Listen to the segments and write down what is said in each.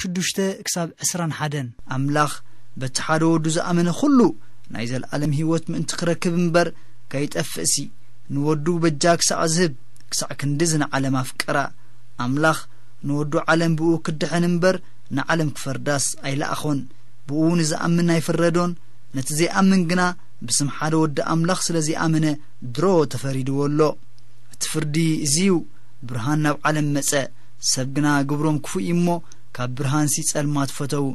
ሽዱሽተ ክሳብ ዕስራን ሓደን። ኣምላኽ በቲ ሓደ ወዱ ዝኣመነ ኩሉ ናይ ዘልኣለም ህይወት ምእንቲ ክረክብ እምበር ከይጠፍእሲ፣ ንወዱ በጃ ክሳዕ ዝህብ ክሳዕ ክንድዚ ንዓለም ኣፍቀራ። ኣምላኽ ንወዱ ዓለም ብኡ ክድሕን እምበር ንዓለም ክፈርዳስ ኣይለኣኾን። ብኡ ንዝኣምን ኣይፍረዶን፣ ነቲ ዘይኣምን ግና ብስም ሓደ ወዲ ኣምላኽ ስለ ዘይኣመነ ድሮ ተፈሪድዎ ኣሎ። እቲ ፍርዲ እዚ እዩ፣ ብርሃን ናብ ዓለም መጸ፣ ሰብ ግና ግብሮም ክፉእ እዩ እሞ ካብ ብርሃንሲ ጸልማት ፈተዉ።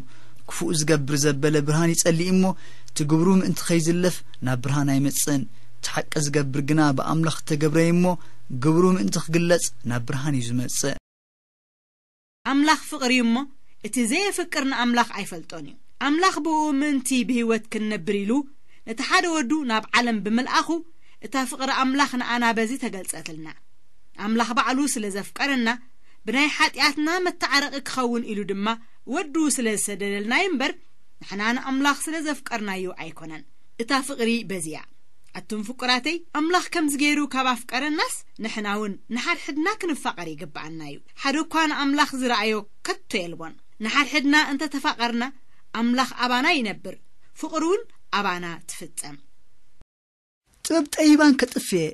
ክፉእ ዝገብር ዘበለ ብርሃን ይጸልእ እሞ እቲ ግብሩ ምእንቲ ከይዝለፍ ናብ ብርሃን ኣይመጽእን። እቲ ሓቂ ዝገብር ግና ብኣምላኽ እተገብረ እዩ እሞ ግብሩ ምእንቲ ክግለጽ ናብ ብርሃን እዩ ዝመጽእ። ኣምላኽ ፍቕሪ እዩ እሞ እቲ ዘየፍቅር ንኣምላኽ ኣይፈልጦን እዩ። ኣምላኽ ብኡ ምእንቲ ብህይወት ክንነብር ኢሉ ነቲ ሓደ ወዱ ናብ ዓለም ብምልኣኹ እታ ፍቕሪ ኣምላኽ ንኣና በዚ ተገልጸትልና። ኣምላኽ ባዕሉ ስለ ዘፍቀረና ብናይ ሓጢኣትና መተዓረቒ ክኸውን ኢሉ ድማ ወዱ ስለ ዝሰደደልና እዩ እምበር ንሕና ንኣምላኽ ስለ ዘፍቀርናዮ ኣይኮነን። እታ ፍቕሪ በዚ እያ። ኣቱም ፍቁራተይ፣ ኣምላኽ ከምዚ ገይሩ ካብ ኣፍቀረናስ ንሕና እውን ንሓድሕድና ክንፋቐር ይግብኣና እዩ። ሓደ እኳ ንኣምላኽ ዝረኣዮ ከቶ የልቦን። ንሓድሕድና እንተ ተፋቐርና ኣምላኽ ኣባና ይነብር፣ ፍቕሩ እውን ኣባና ትፍጸም። ጥበብ ጠቢባን ከጥፍእ እየ፣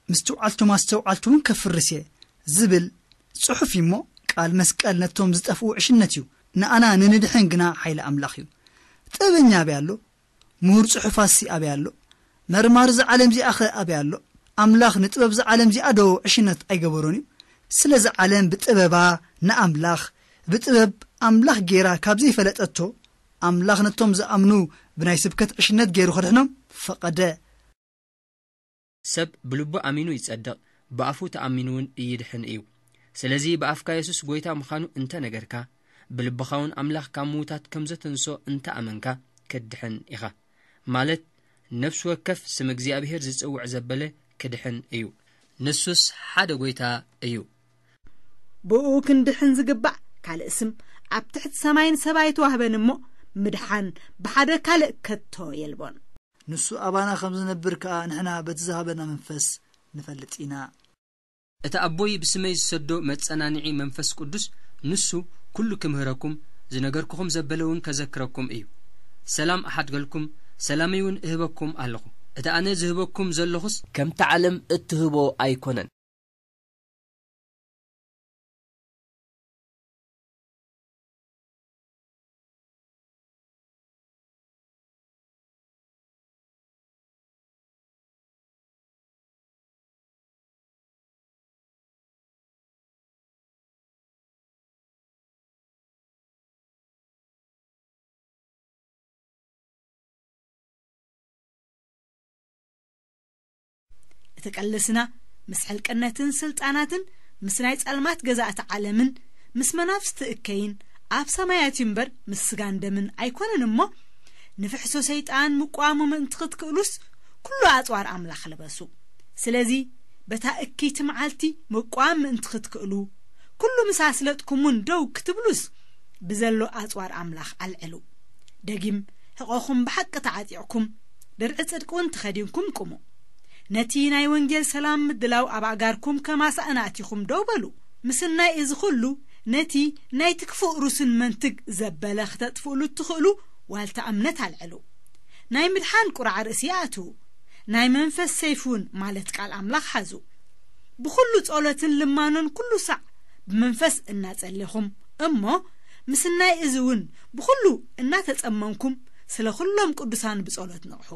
ምስትውዓልቶም ኣስተውዓልቲ እውን ከፍርስ እየ ዝብል ጽሑፍ እዩ እሞ፣ ቃል መስቀል ነቶም ዝጠፍኡ ዕሽነት እዩ፣ ንኣና ንንድሕን ግና ሓይሊ ኣምላኽ እዩ። ጥበበኛ ኣበይ ኣሎ? ምሁር ጽሑፋሲ ኣበይ ኣሎ? መርማሪ እዛ ዓለም እዚኣኸ ኣበይ ኣሎ? ኣምላኽ ንጥበብ እዛ ዓለም እዚኣ ዶ ዕሽነት ኣይገበሮን እዩ? ስለዚ ዓለም ብጥበባ ንኣምላኽ፣ ብጥበብ ኣምላኽ ገይራ ካብ ዘይፈለጠቶ፣ ኣምላኽ ነቶም ዝኣምኑ ብናይ ስብከት ዕሽነት ገይሩ ከድሕኖም ፈቐደ። ሰብ ብልቡ ኣሚኑ ይጸድቕ፣ ብኣፉ ተኣሚኑ እውን ይድሕን እዩ። ስለዚ ብኣፍካ የሱስ ጐይታ ምዃኑ እንተ ነገርካ፣ ብልብኻ እውን ኣምላኽ ካብ ምዉታት ከም ዘተንስኦ እንተ ኣመንካ፣ ክትድሕን ኢኻ። ማለት፣ ነፍሲ ወከፍ ስም እግዚኣብሄር ዝጽውዕ ዘበለ ክድሕን እዩ። ንሱስ ሓደ ጐይታ እዩ። ብኡ ክንድሕን ዝግባእ ካልእ ስም ኣብ ትሕቲ ሰማይን ሰብ ኣይተዋህበን እሞ፣ ምድሓን ብሓደ ካልእ ከቶ የልቦን። ንሱ ኣባና ከም ዝነብር ከኣ ንሕና በቲ ዝሃበና መንፈስ ንፈልጥ ኢና። እቲ ኣቦይ ብስመይ ዝሰዶ መጸናንዒ መንፈስ ቅዱስ፣ ንሱ ኩሉ ክምህረኩም፣ ዝነገርኩኹም ዘበለ እውን ከዘክረኩም እዩ። ሰላም እሓድገልኩም፣ ሰላመይ እውን እህበኩም ኣለኹ። እቲ ኣነ ዝህበኩም ዘለኹስ ከምቲ ዓለም እትህቦ ኣይኮነን። እቲ ቀልስና ምስ ሕልቅነትን ስልጣናትን ምስ ናይ ጸልማት ገዛእቲ ዓለምን ምስ መናፍስቲ እከይን ኣብ ሰማያት እዩ እምበር ምስ ስጋን ደምን ኣይኮነን እሞ፣ ንፍሕሶ ሰይጣን ምቋሙ ምእንቲ ክትክእሉስ ኩሉ ኣጽዋር ኣምላኽ ልበሱ። ስለዚ በታ እክይቲ መዓልቲ ምቋም ምእንቲ ክትክእሉ፣ ኩሉ ምስ ኣስለጥኩምውን ደው ክትብሉስ ብዘሎ ኣጽዋር ኣምላኽ ኣልዕሉ። ደጊም ሕቖኹም ብሓቂ ተዓጢቕኩም፣ ድርዒ ጽድቂ እውን ተኸዲንኩም ቁሙ። ነቲ ናይ ወንጌል ሰላም ምድላው ኣብ ኣጋርኩም ከማሳእና ኣቲኹም ደው በሉ። ምስናይ እዚ ኹሉ ነቲ ናይቲ ክፉእ ሩስን መንትግ ዘበለ ክተጥፍእሉ እትኽእሉ ዋልታ እምነት ኣልዕሉ። ናይ ምድሓን ቁራዕ ርእሲ ኣእትዉ። ናይ መንፈስ ሰይፍ እውን ማለት ቃል ኣምላኽ ሓዙ። ብኹሉ ጸሎትን ልማኖን ኩሉ ሳዕ ብመንፈስ እናጸሌኹም እሞ ምስናይ እዚ እውን ብኹሉ እናተጸመምኩም ስለ ኩሎም ቅዱሳን ብጸሎት ንቕሑ።